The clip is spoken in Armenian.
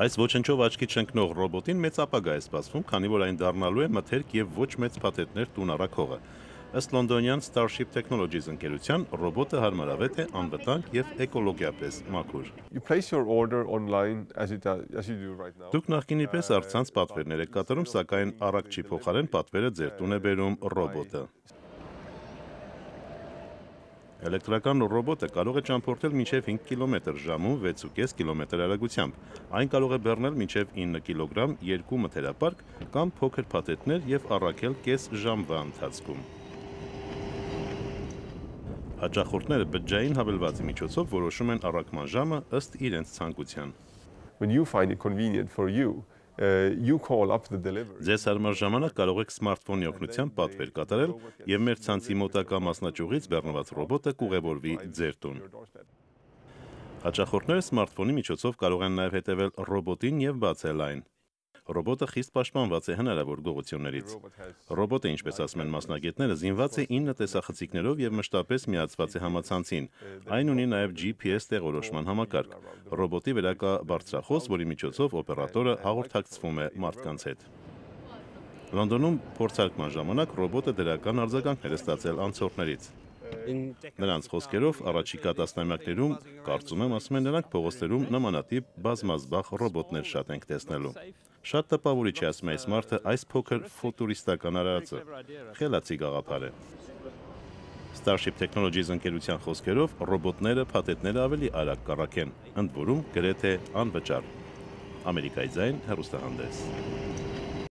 Այս ոչնչով աչքի չընկնող ռոբոտին մեծ ապագա է սպասվում, քանի որ այն դառնալու է մթերք եւ ոչ մեծ փաթեթներ տուն առաքողը։ Ըստ լոնդոնյան Starship Technologies ընկերության, ռոբոտը հարմարավետ է անվտանգ եւ էկոլոգիապես մաքուր։ Դուք նախկինի պես առցանց պատվերներ եք կատարում, սակայն առաքչի փոխարեն պատվերը ձեր տուն է բերում ռոբոտը։ Էլեկտրական ռոբոտը կարող է ճամփորդել մինչև 5 կմ/ժ 6.5 կմ արագությամբ։ Այն կարող է բեռնել մինչև 9 կգ, 2 մթերապարկ կամ փոքր փաթեթներ եւ առաքել կես ժամվա ընթացքում։ Հաճախորդները բջջային հավելվածի միջոցով որոշում են առաքման ժամը ըստ իրենց ցանկության։ Ձեզ հարմար ժամանակ կարող եք սմարթֆոնի օգնությամբ պատվեր կատարել եւ մեր ցանցի մոտակա մասնաճյուղից բեռնված ռոբոտը կուղևորվի ձեր տուն։ Հաճախորդները սմարթֆոնի միջոցով կարող են նաեւ հետևել ռոբոտին եւ բացել այն։ Ռոբոտը խիստ պաշտպանված է հնարավոր գողություններից։ Ռոբոտը, ինչպես ասում են մասնագետները, զինված է 9 տեսախցիկներով եւ մշտապես միացված է համացանցին։ Այն ունի նաեւ GPS տեղորոշման համակարգ։ Ռոբոտի վրա կա բարձրախոս, որի միջոցով օպերատորը հաղորդակցվում է մարդկանց հետ։ Լոնդոնում փորձարկման ժամանակ ռոբոտը դրական արձագանքներ է ստացել անցորդներից։ Նրանց խոսքերով առաջիկա տասնամյակներում, կարծում եմ, ասում են նրանք, փողոցներում նմանատիպ բազմազբաղ ռոբոտներ շատ ենք տեսնելու։ Շատ տպավորիչ է, ասում է այս մարդը, այս փոքր ֆուտուրիստական արարածը։ Խելացի գաղափար է։ Starship Technologies ընկերության խոսքերով ռոբոտները փաթեթները ավելի արագ կառաքեն, ընդ որում գրեթե անվճար։ Ամերիկայի ձայն հեռուստահանդես։